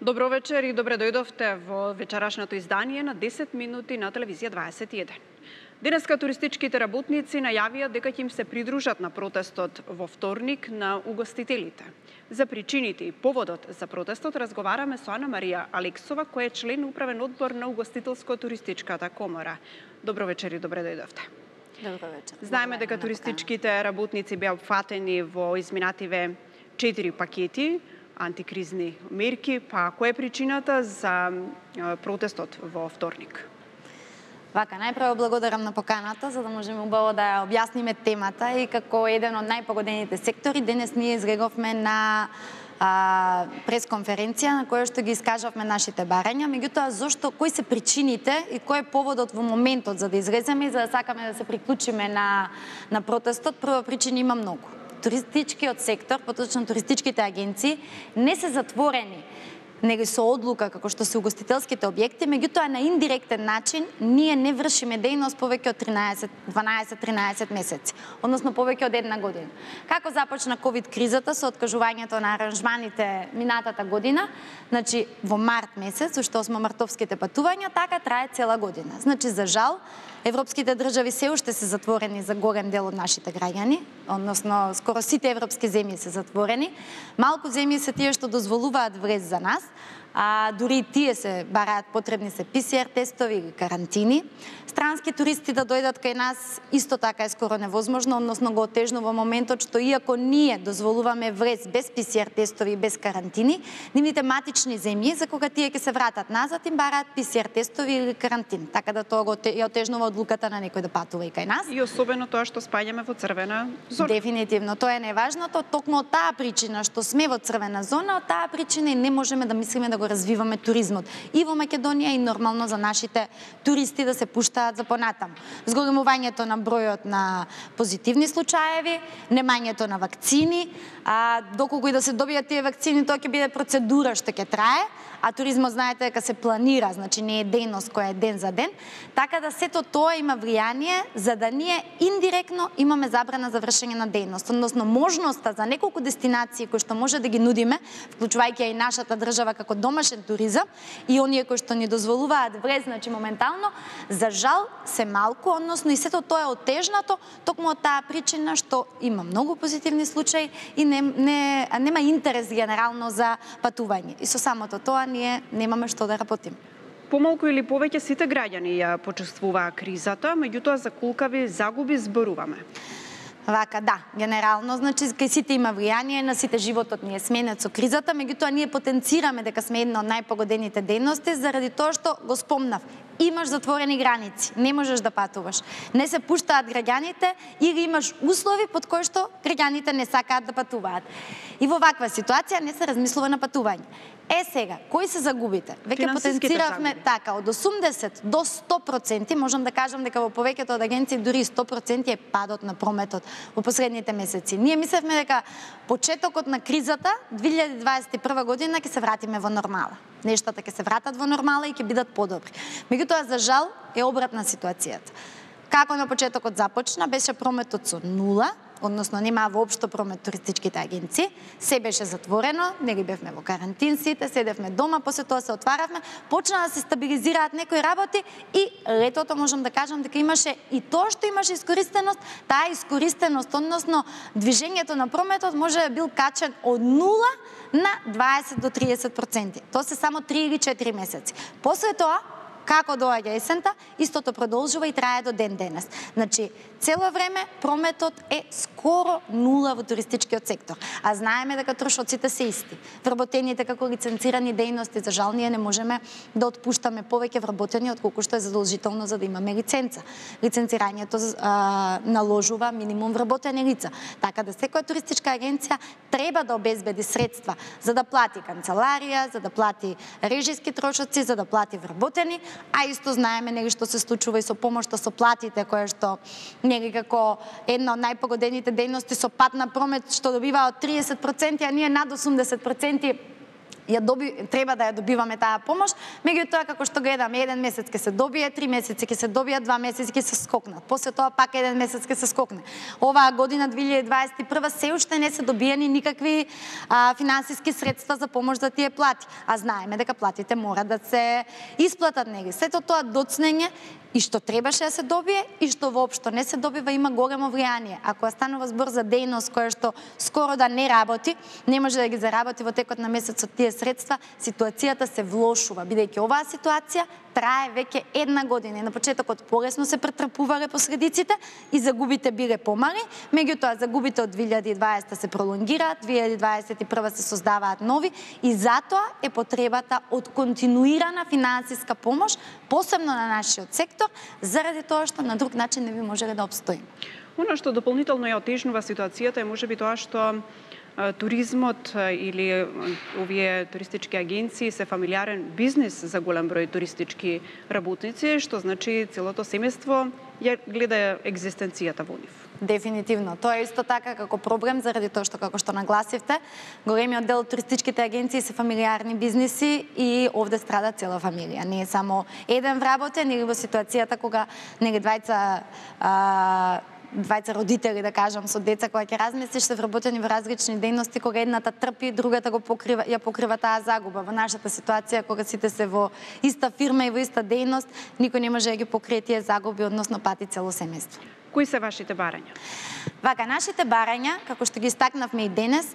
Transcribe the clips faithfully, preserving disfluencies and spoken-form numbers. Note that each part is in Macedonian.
Добро вечер и добре дојдовте во вечерашното издание на десет минути на телевизија дваесет и еден. Денеска туристичките работници најавија дека ќе им се придружат на протестот во вторник на угостителите. За причините и поводот за протестот разговараме со Ана Марија Алексова, која е член управен одбор на Угостителско-туристичката комора. Добро вечер и добре дојдовте. Добро вечер. Знаеме дека туристичките работници беа опфатени во изминативе четири пакети антикризни мерки, па која е причината за протестот во вторник? Вака, најпрво благодарам на поканата, за да можеме убаво да ја објасниме темата и како еден од најпогодените сектори, денес ние изреговме на а, пресконференција на која што ги искажавме нашите барања, меѓутоа зошто, кои се причините и кој е поводот во моментот за да излеземе и за да сакаме да се приклучиме на, на протестот. Прва причина има многу. Туристичкиот сектор, поточно туристичките агенции, не се затворени, него со одлука како што се угостителските објекти, меѓутоа на индиректен начин ние не вршиме дејност повеќе од тринаесет, дванаесет тринаесет месеци, односно повеќе од една година. Како започна ковид кризата со откажувањето на аранжманите минатата година, значи во март месец, уште осмомартовските патувања, така трае цела година. Значи за жал европските држави се уште се затворени за голем дел од нашите граѓани, односно скоро сите европски земји се затворени. Малку земји се тие што дозволуваат влез за нас, а дури и тие се бараат потребни се пи си ар тестови или карантини. Странски туристи да дојдат кај нас исто така е скоро невозможно, односно го отежнува моментот што иако ние дозволуваме влез без пи си ар тестови и без карантини, нивните матични земји за кога тие ќе се вратат назад им бараат пи си ар тестови или карантин, така да тоа го ја отежнува одлуката на некој да патува и кај нас. И особено тоа што спаѓаме во црвена зона. Дефинитивно, тоа е неважното, токму од таа причина што сме во црвена зона, од таа причина и не можеме да мислиме да го развиваме туризмот и во Македонија и нормално за нашите туристи да се пуштаат за понатаму. Зголемувањето на бројот на позитивни случаеви, немањето на вакцини, а доколку и да се добијат тие вакцини, тоа ќе биде процедура што ќе трае, а туризмот знаете дека се планира, значи не е дејност која е ден за ден, така да сето тоа има влијание за да ние индиректно имаме забрана за вршење на дејност, односно можноста за неколку дестинации кои што може да ги нудиме, вклучувајќи и нашата држава како домашен туризам и оние кои што ни дозволуваат влез, значи моментално, за жал се малку, односно и сето тоа е отежнато токму од таа причина што има многу позитивни случаи и не, не, нема интерес генерално за патување. И со самото тоа ние немаме што да работиме. Помалку или повеќе сите граѓани ја почувствуваа кризата, меѓутоа за колкави загуби зборуваме? Вака, да, генерално, значи, кај сите има влијание, на сите животот ни е сменет со кризата, меѓутоа ние потенцираме дека сме една од најпогодените дејности, заради тоа што го спомнав. Имаш затворени граници, не можеш да патуваш. Не се пуштаат граѓаните или имаш услови под кои што граѓаните не сакаат да патуваат. И во ваква ситуација не се размислува на патување. Е сега, кои се загубите? Веќе потенциравме така, од осумдесет до сто проценти, можам да кажам дека во повеќето од агенции дури сто проценти е падот на прометот во последните месеци. Ние мислевме дека почетокот на кризата две илјади дваесет и прва година ќе се вратиме во нормала. Нештата ќе се вратат во нормала и ќе бидат подобри. Меѓутоа за жал е обратна ситуацијата. Како на почетокот започна, беше прометот со нула, односно немаа воопшто промет туристичките агенции, се беше затворено, нели бевме во карантин сите, седевме дома, после тоа се отваравме, почна да се стабилизираат некои работи и летото можам да кажам дека имаше и тоа што имаше искористеност, таа искористеност, односно движењето на прометот може да бил качен од нула на дваесет до триесет проценти. Тоа се само три или четири месеци. После тоа, како доаѓа есента, истото продолжува и трае до ден денес. Значи, цело време прометот е скоро нула во туристичкиот сектор. А знаеме дека трошоците се исти. Вработените како лиценцирани дејности, за жал ние не можеме да отпуштаме повеќе вработени отколку што е задолжително за да имаме лиценца. Лиценцирањето а, наложува минимум вработени лица. Така да секоја туристичка агенција треба да обезбеди средства за да плати канцеларија, за да плати режиски трошоци, за да плати вработени, а исто знаеме нели што се случува и со помошта со платите, кое што нели како една од најпогодените дејности со пат на промет што добива од триесет проценти, а ние над осумдесет проценти ја доби, треба да ја добиваме таа помош, меѓутоа како што гледаме, еден месец ќе се добие, три месеци ќе се добија, два месеци ќе се скокнат. После тоа пак еден месец ќе се скокне. Оваа година две илјади дваесет и прва се уште не се добиени никакви а, финансиски средства за помош за тие плати, а знаеме дека платите мора да се исплатат неги. Сето тоа доцнење и што требаше да се добие и што воопшто не се добива има големо влијание. Ако станува збор за дејност која што скоро да не работи, не може да ги заработи во текот на месецот тие средства, ситуацијата се влошува, бидејќи оваа ситуација трае веќе една година. На почетокот полесно се претрпувале последиците и загубите биле помали, меѓутоа загубите од две илјади и дваесета се пролонгираат, две илјади дваесет и прва се создаваат нови и затоа е потребата од континуирана финансиска помош, посебно на нашиот сектор, заради тоа што на друг начин не би можеле да обстоиме. Оно што дополнително ја отежнува ситуацијата е можеби тоа што туризмот или овие туристички агенции се фамилиарен бизнис за голем број туристички работници, што значи целото семејство ја гледа екзистенцијата во нив. Дефинитивно. Тоа е исто така како проблем, заради тоа што, како што нагласивте, големиот дел од туристичките агенции се фамилиарни бизниси и овде страда цела фамилија. Не е само еден вработен или во ситуацијата кога нели двајца а, двајца родители, да кажам, со деца кои ќе разместиш, се вработени во различни дејности, кога едната трпи, другата го покрива, ја покрива таа загуба. Во нашата ситуација, кога сите се во иста фирма и во иста дејност, никој не може да ги покрие тие загуби, односно пати цело семејство. Кои се вашите барања? Вака, нашите барања, како што ги истакнавме и денес,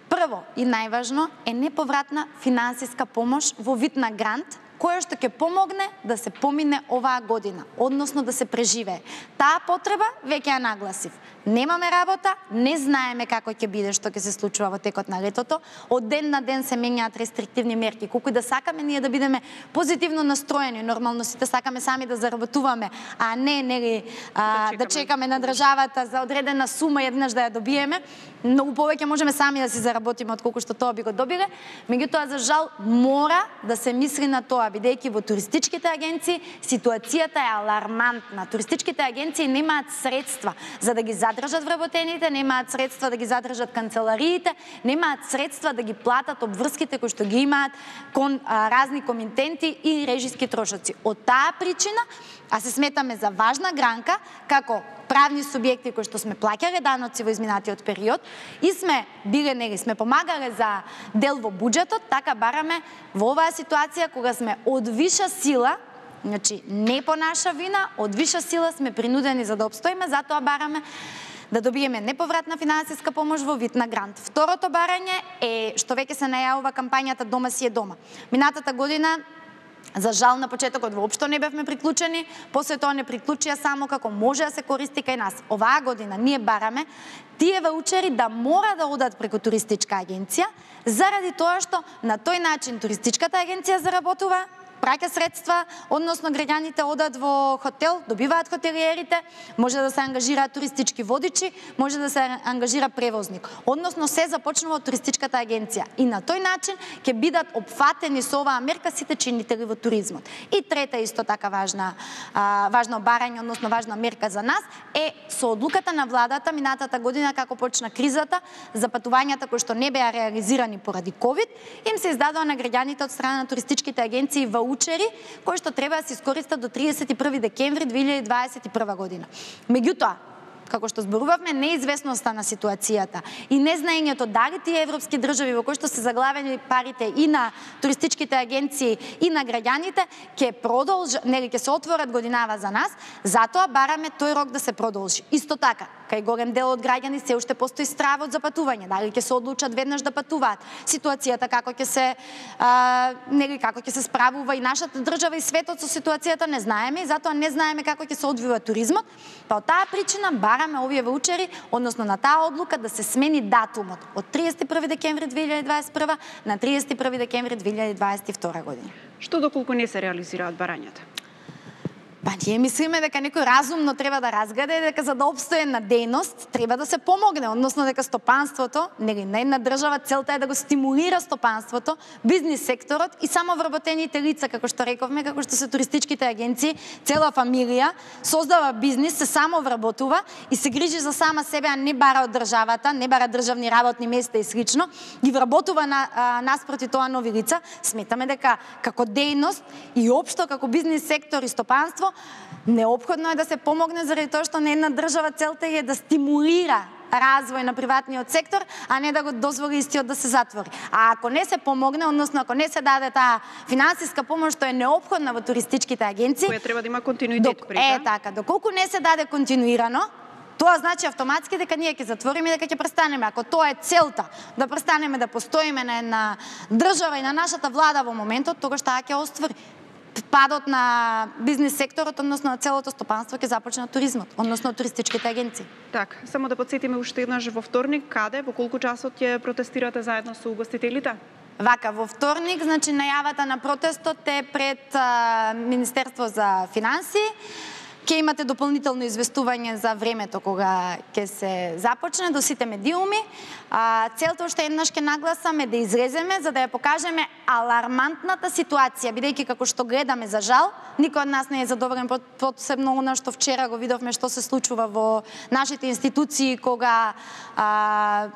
прво и најважно е неповратна финансиска помош во вид на грант, која што ќе помогне да се помине оваа година, односно да се преживее. Таа потреба веќе ја нагласив. Немаме работа, не знаеме како ќе биде, што ќе се случува во текот на летото. Од ден на ден се менјаат рестриктивни мерки. Колку и да сакаме ние да бидеме позитивно настроени, нормално сите сакаме сами да заработуваме, а не нели а, да, чекаме. да чекаме на државата за одредена сума еднаш да ја добиеме. Многу повеќе можеме сами да си заработиме отколку што тоа би го добиле. Меѓутоа, за жал, мора да се мисли на тоа, бидејќи во туристичките агенции ситуацијата е алармантна. Туристичките агенции немаат средства за да ги задржат вработените, немаат средства да ги задржат канцелариите, немаат средства да ги платат обврските кои што ги имаат кон а, разни комитенти и режиски трошоци. Од таа причина, а се сметаме за важна гранка, како правни субјекти кои што сме плаќале даноци во изминатиот период и сме биле нели сме помагале за дел во буџетот, така бараме во оваа ситуација кога сме од виша сила, значи не по наша вина, од виша сила сме принудени за да обстоиме, затоа бараме да добиеме неповратна финансиска помош во вид на грант. Второто барање е што веќе се најавува кампањата Дома си е дома. Минатата година, за жал, на почетокот воопшто не бевме приклучени, после тоа не приклучија само како може да се користи кај нас. Оваа година ние бараме тие ваучери да мора да одат преку туристичка агенција, заради тоа што на тој начин туристичката агенција заработува, праќа средства, односно граѓаните одат во хотел, добиваат хотелиерите, може да се ангажираат туристички водичи, може да се ангажира превозник. Односно се започнува од туристичката агенција и на тој начин ќе бидат опфатени со оваа мерка сите чинители во туризмот. И трета исто така важна а, важно барање, односно важна мерка за нас е со одлуката на владата минатата година како почна кризата за патувањата кои што не беа реализирани поради ковид, им се издадоа на граѓаните од страна на туристичките агенции ваучери кои што треба да се искористат до триесет и први декември две илјади дваесет и прва година. Меѓутоа, како што зборувавме, неизвестноста на ситуацијата и незнаењето дали тие европски држави во кои што се заглавени парите и на туристичките агенции и на граѓаните ќе продолжи, нели ќе се отворат годинава за нас, затоа бараме тој рок да се продолжи. Исто така, кај голем дел од граѓани се уште постои стравот за патување, дали ќе се одлучат веднаш да патуваат. Ситуацијата како ќе се а, нели како ќе се справува и нашата држава и светот со ситуацијата не знаеме и затоа не знаеме како ќе се одвива туризмот. Па од таа причина бараме овие ваучери, односно на таа одлука да се смени датумот од триесет и први декември две илјади дваесет и прва на триесет и први декември две илјади дваесет и втора година. Што доколку не се реализираат барањата? Па Ба, ние мислиме дека некој разумно треба да разгледа и дека за да обстое на дејност треба да се помогне, односно дека стопанството, нели на една држава целта е да го стимулира стопанството, бизнис секторот и само вработените лица, како што рековме, како што се туристичките агенции, цела фамилија создава бизнис, се само вработува и се грижи за сама себе, а не бара од државата, не бара државни работни места и слично, ги вработува на а, наспроти тоа нови лица. Сметаме дека како дејност и општо како бизнис сектор и стопанство неопходно е да се помогне заради тоа што на една држава целта е да стимулира развој на приватниот сектор, а не да го дозволи истиот да се затвори. А ако не се помогне, односно ако не се даде таа финансиска помош што е неопходна во туристичките агенции, која треба да има континуитет док, при Е така, доколку не се даде континуирано, тоа значи автоматски дека ние ќе затвориме и дека ќе престанеме. Ако тоа е целта, да престанеме да постоиме на една држава и на нашата влада во моментот, тогаш таа ќе оствари. Падот на бизнис секторот, односно на целото стопанство ќе започне од туризмот, односно од туристичките агенции. Так, само да подсетиме уште еднаш во вторник, каде, во колку часот ќе протестирате заедно со угостителите? Вака, во вторник, значи најавата на протестот е пред а, Министерство за финансии. Ќе имате дополнително известување за времето кога ќе се започне до сите медиуми. А, целта уште еднаш ќе нагласаме да излеземе за да ја покажеме алармантната ситуација, бидејќи како што гледаме за жал, никој од нас не е задоволен, посебно она што вчера го видовме што се случува во нашите институции кога а,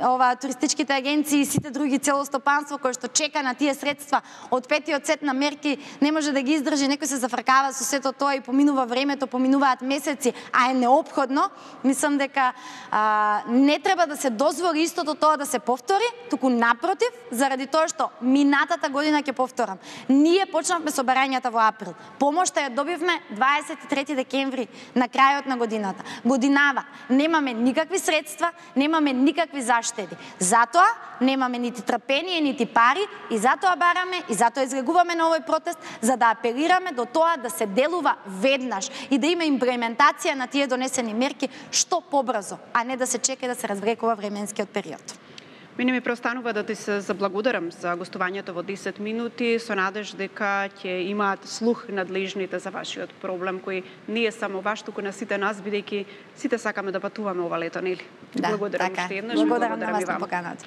ова туристичките агенции и сите други цело стопанство кој што чека на тие средства од петиот сет на мерки не може да ги издржи, некој се зафркава со сето тоа и поминува времето, поминуваат месеци, а е неопходно. Мислам дека а, не треба да се дозволи истото тоа да се повтори, туку напротив, заради тоа што минатата година ќе повторам. Ние почнавме со барањата во април. Помошта ја добивме дваесет и трети декември на крајот на годината. Годинава немаме никакви средства, немаме никакви заштеди. Затоа немаме нити трпение, нити пари и затоа бараме и затоа излегуваме на овој протест за да апелираме до тоа да се делува веднаш и да има имплементација на тие донесени мерки што побрзо, а не да се чека да се развлекува временскиот период. Мене ми преостанува да ти се заблагодарам за гостувањето во десет минути, со надеж дека ќе имаат слух надлежните за вашиот проблем, кој не е само ваш, туку на сите нас, бидејќи сите сакаме да патуваме ова лето, нели? Да, благодарам така. уште еднаш. Благодарам на вас и на вам. поканата.